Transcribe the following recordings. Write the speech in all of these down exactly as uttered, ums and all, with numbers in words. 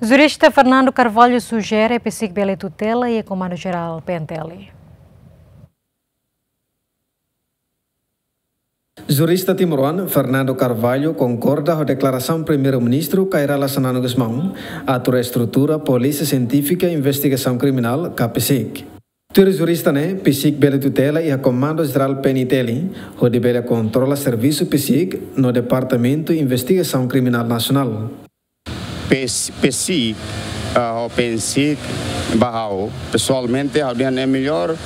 Jurista Fernando Carvalho sujere PCIC bele tutela iha Komandu Jerál PNTL. Jurista timoroan Fernando Carvalho konkorda ho deklarasaun Primeiru-Ministru Kay Rala Xanana Gusmão atu reestrutura Polísia Sientífika Investigasaun Kriminál ka PCIC. Tuir jurista ne'e, PCIC bele tutela iha Komandu Jerál PNTL, hodi bele kontrola servisu PCIC no Departamentu Investigasaun Kriminál Nasionál. PCIC, ah, ho PNCIC, ba ha'u pesoalmente ha'u dehan é melhor,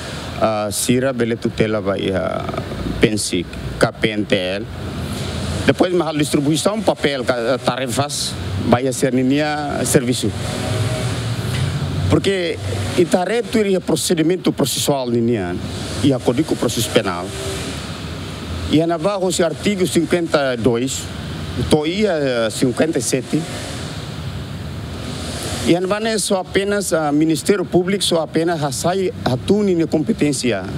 ah, sira bele tutela ba iha PNCIC ka PNTL. Depois mak halo distribuisaun papél ka, eh, tarefas ba iha sira-ninia servisu. Porque ita haree tuir iha prosedimentu prosesuál ninian, iha Kódigu Prosesu Penál, iha ne'ebá hosi artigu cinquenta e dois to'o iha, eh, cinquenta e sete, iha ne'ebá ne'e só apenas, ah, Ministériu Públiku só apenas hasai hatún ninia kompeténsia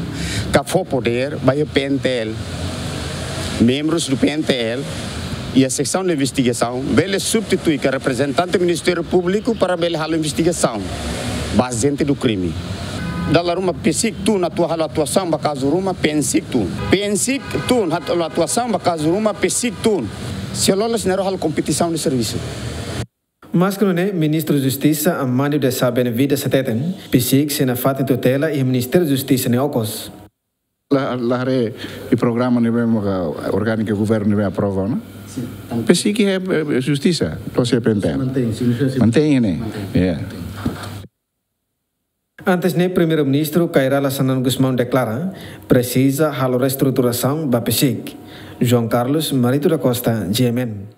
ka fó podér ba iha PNTL. Membrus do PNTL iha seksaun de investigasaun bele substitui ka reprezentante Ministériu Públiku para bele halo investigasaun ba agente do crime. Dala ruma PCIC tun atu halo atuasaun ba kazu ruma, PNCIC tun. PNCIC tun atu halo atuasaun ba kazu ruma, PCIC tun. Se loloos ne'e halo kompetisaun de servisu. Maske nune'e, Ministru Justisa Amândio de Sá Benevide hateten, PCIC sei nafatin tutela iha Ministériu Justisa nia okos. La, la haree iha programa ne'ebé maka orgániku governu ne'ebé aprova ona. Sin, tantu. PCIC iha, eh, Justisa, to'o iha PNTL. Mantein, sin, sin. Mantein ne'e. Mantein. Ya. Antes ne'e, Primeiru-Ministru Kay Rala Xanana Gusmão deklara, presiza halo reestruturasaun ba PCIC. João Carlos Marito da Costa, GMN.